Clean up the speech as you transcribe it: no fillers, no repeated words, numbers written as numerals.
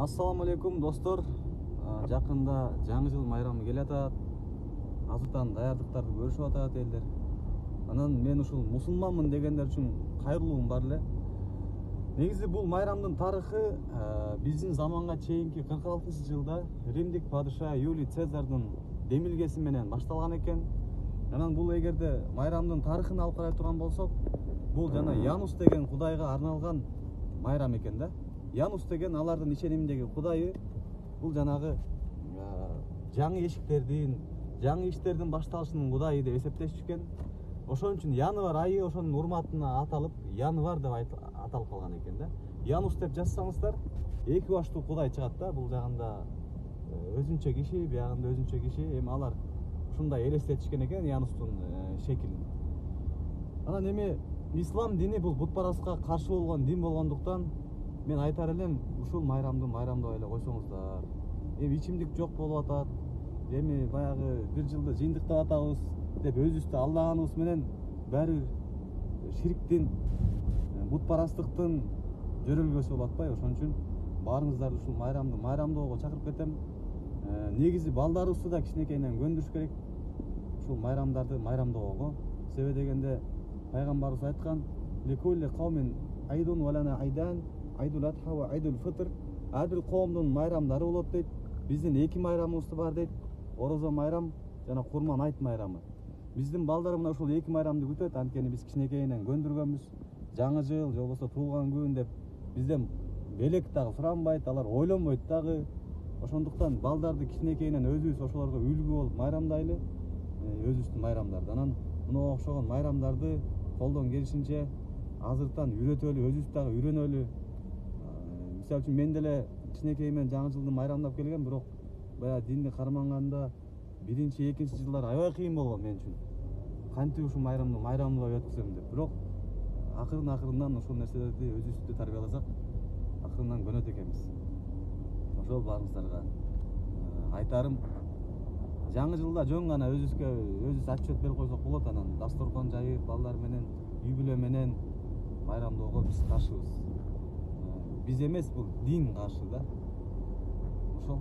Ассаламу алейкум достор. Жакында жаңы жыл майрамы келатат. Азыртан даярдыктарды көрүшүп атат элдер. Анан мен ушул мусулманмын дегендер үчүн кайрылуум бар эле. Негизи бул майрамдын тарыхы биздин заманга чейинки 46-жылда Римдик падыша Юлий Цезардын демилгеси менен башталган экен. Анан бул эгерде майрамдын тарыхын алып карай турган болсок, бул жана Янус деген кудайга арналган майрам экен да. Янус деген алардын ишениминдеги кудайы. Бул жанагы жаңы эшиктердин, жаңы иштердин башталышынын кудайы деп эсептешишкен. Ошон үчүн январь айы ошонун урматына аталып, январь деп аталып калган экен да. Янус деп жазсаңыздар, эки баштуу кудай чыгат да. Бул жагында өзүнчө киши, биягында өзүнчө киши. Эми алар ушундай элестетишкен экен Янустун шекилин. Анан эми ислам дини бул бутпарастыкка каршы болгон дин болгондуктан мен айтар элем, ушул майрамды майрамдабай эле койсоңуздар. Эми ичимдик жок болуп атат. Эми баягы бир жылды жыйынтыктап атабыз деп өзүбүздү алдаганыбыз менен баары шириктин, бутпарастыктын жөрөлгөсү болуп атпайбы? Ошон үчүн баарыңыздарды ушул майрамды майрамдоого чакырып кетем. Негизи балдарыбызды да кичинекейинен көндүрүш керек ушул майрамдарды майрамдоого. Себеби дегенде пайгамбарыбыз айткан: "Лекулли каумен айдун валана айдан, айдул адха ва айдул фитр". Ар бир коомдун майрамдары болот дейт. Биздин эки майрамыбыз бар дейт. Орозо майрам жана Курман айт майрамы. Биздин балдар мына ушул эки майрамды күтөт, анткени биз кичинекейинен көндүргөнбүз. Жаңы жыл же болбосо туулган күн деп бизден белек дагы суранбайт, алар ойлонбойт дагы. Ошондуктан балдарды кичинекейинен өзүбүз ошолорго үлгү болуп майрамдайлы, өзүбүздүн майрамдарды. Анан мына окшогон майрамдарды колдон келишинче азыртан үйрөтөлү, өзүбүз дагы үйрөнөлү. Мисалы үчүн мен деле кичинекейимден жаңы жылды майрамдап келгем, бирок баягы динди карманганда биринчи, экинчи жылдар аябай кыйын болгон мен үчүн. Кантип ушул майрамды майрамдабай өткөзөм деп. Бирок акырын-акырындан ушул нерселерди өзүбүздү тарбияласак, акырындан көнөт экенбиз. Ошол баарыңыздарга айтарым, жаңы жылда жөн гана өзүбүз отчет берип койсок болот. Анан дасторкон жайып, балдар менен, үй бүлө менен майрамдоого биз каршыбыз. Биз эмес, бул дин каршы да. Ошол.